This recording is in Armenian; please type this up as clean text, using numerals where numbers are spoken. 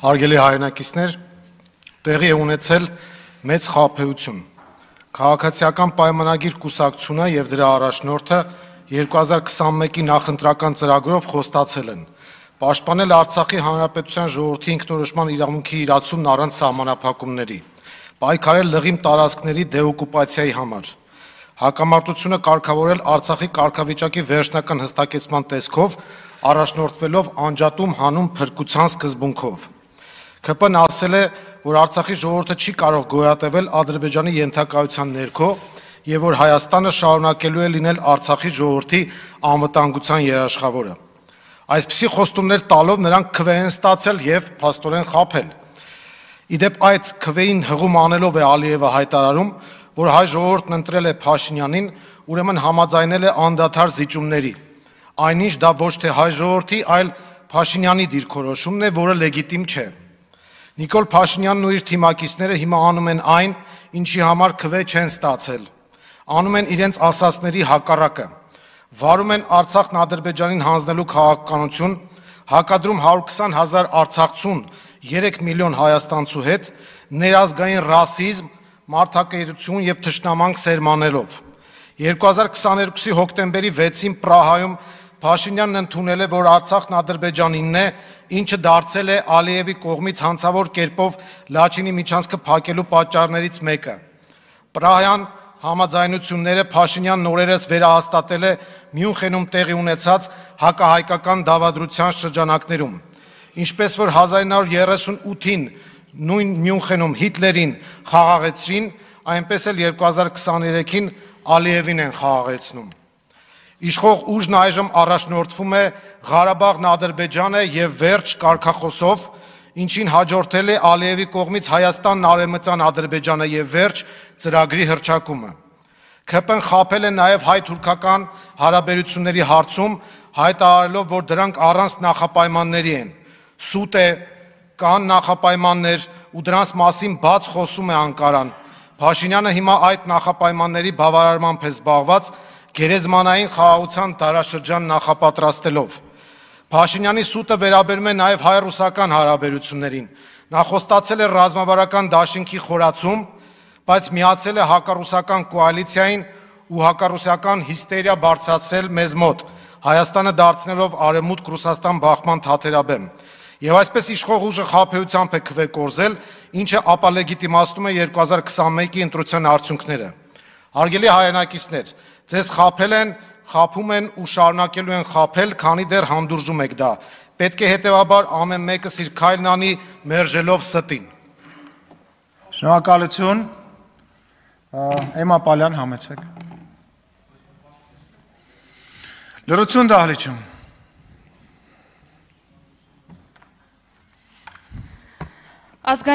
Հարգելի հայրենակիցներ, տեղի է ունեցել մեծ խաբեություն։ Քաղաքացիական պայմանագիր կուսակցությունը եւ դրա առաջնորդը 2021-ի նախընտրական ծրագրով խոստացել են պաշտպանել Արցախի Հանրապետության ժողովրդի ինքնորոշման իրավունքի իրացումն առանց սահմանափակումների, պայքարել լղիմ տարածքների դեօկուպացիայի համար, հակամարտությունը կարգավորել Արցախի կարգավիճակի վերջնական հստակեցման տեսքով, առաջնորդվելով անջատում հանուն փրկության սկզբունքով։ ՔՊ-ն ասել է, որ Արցախի ժողովուրդը չի կարող գոյատևել Ադրբեջանի ենթակայության ներքո եւ որ Հայաստանը շարունակելու է լինել Արցախի ժողովրդի անվտանգության երաշխավորը։ Այսպիսի խոստումներ տալով նրանք քվե են ստացել եւ փաստորեն խաբել։ Իդեպ այդ քվեին հղում անելով է Ալիևը հայտարարում, որ հայ ժողովուրդն ընտրել է Փաշինյանին, ուրեմն համաձայնել է անդադար զիջումների։ Այնինչ դա ոչ թե հայ ժողովրդի, այլ Փաշինյանի դիրքորոշումն է, որը լեգիտիմ չէ։ Նիկոլ Փաշինյանն ու իր թիմակիցները հիմա անում են այն, ինչի համար քվե չեն ստացել։ Անում են իրենց ասածների հակառակը։ Վարում են Արցախն Ադրբեջանին հանձնելու քաղաքականություն, հակադրում 120,000 արցախցուն 3 միլիոն հայաստանցու հետ, ներազգային ռասիզմ, մարդակերություն եւ թշնամանք սերմանելով։ 2022-ի հոկտեմբերի 6-ին Պրահայում Փաշինյանն ընդունել է, որ Արցախն Ադրբեջանինն է, ինչը դարձել է Ալիևի կողմից հանցավոր կերպով Լաչինի միջանցքը փակելու պատճառներից մեկը։ Պրահյան համաձայնությունները Փաշինյանն օրերս վերահաստատել է Մյունխենում տեղի ունեցած հակահայկական դավադրության շրջանակներում, ինչպես որ 1938-ին նույն Մյունխենում Հիտլերին խաղաղեցրին, այնպես էլ 2023-ին Ալիևին են խաղաղեցնում։ Իշխող ուժն այժմ առաջնորդվում է Ղարաբաղն Ադրբեջան է եւ վերջ կարգախոսով, ինչին հաջորդել է Ալիևի կողմից Հայաստանն Արևմտյան Ադրբեջանը եւ վերջ ծրագրի հռչակումը։ ՔՊ-ն խաբել է նաեւ հայ-թուրքական հարաբերությունների հարցում, հայտարարելով, որ դրանք առանց նախապայմանների են։ Սուտ է, կան նախապայմաններ ու դրանց մասին բաց խոսում է Անկարան։ Փաշինյանը հիմա այդ նախապայմանների բավարարմամբ է զբաղված գերեզմանային խաղաղության դարաշրջան նախապատրաստելով։ Փաշինյանի սուտը վերաբերում է նաև հայ-ռուսական հարաբերություններին։ Նա խոստացել է ռազմավարական դաշինքի խորացում, բայց միացել է հակառուսական կոալիցիային ու հակառուսական հիստերիա բարձրացրել մեզ մոտ, Հայաստանը դարձնելով Արևմուտք Ռուսաստան բախման թաթերաբեմ։ Եվ այսպես իշխող ուժը խաբեությամբ է քվե կորզել, ինչը ապա լեգիտիմացնում է 2021-ի ընտրության արդյունքները։ Հարգելի հայրենակիցներ, ձեզ խաբել են, խաբում են ու շարունակելու են խաբել, քանի դեռ հանդուրժում եք դա։ Պետք է հետևաբար ամեն մեկս իր քայլն անի մերժելով ստին։ Շնորհակալություն։ Էմա Պալյան, համեցեք։ Լրություն դահլիճում։ Ազգային